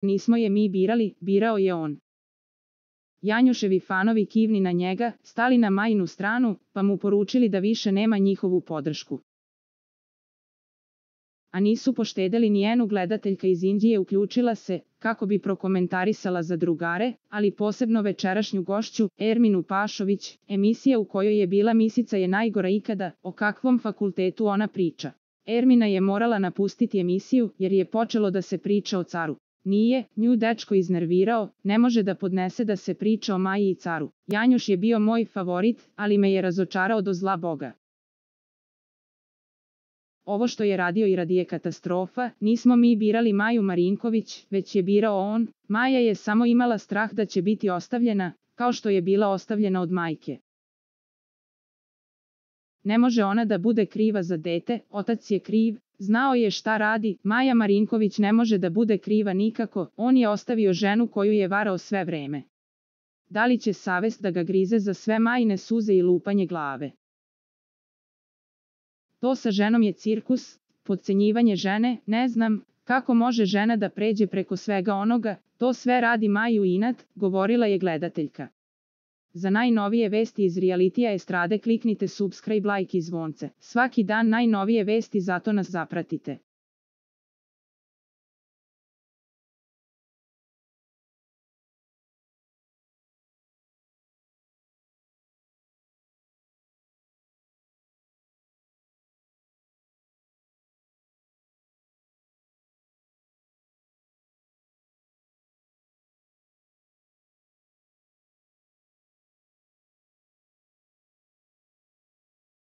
Nismo je mi birali, birao je on. Janjuševi fanovi kivni na njega, stali na Majinu stranu, pa mu poručili da više nema njihovu podršku. A nisu poštedeli ni jednu gledateljka iz Indije uključila se, kako bi prokomentarisala za drugare, ali posebno večerašnju gošću, Erminu Pašović, emisija u kojoj je bila Misica je najgora ikada, o kakvom fakultetu ona priča. Ermina je morala napustiti emisiju, jer je počelo da se priča o caru. Nije, nju dečko iznervirao, ne može da podnese da se priča o Maji i caru. Janjuš je bio moj favorit, ali me je razočarao do zla Boga. Ovo što je radio i radi je katastrofa, nismo mi birali Maju Marinković, već je birao on. Maja je samo imala strah da će biti ostavljena, kao što je bila ostavljena od majke. Ne može ona da bude kriva za dete, otac je kriv, znao je šta radi, Maja Marinković ne može da bude kriva nikako, on je ostavio ženu koju je varao sve vreme. Da li će savest da ga grize za sve Majine suze i lupanje glave? To sa ženom je cirkus, potcenjivanje žene, ne znam, kako može žena da pređe preko svega onoga, to sve radi Maju inat, govorila je gledateljka. Za najnovije vesti iz realitija estrade kliknite subscribe, like i zvonce. Svaki dan najnovije vesti, zato nas zapratite.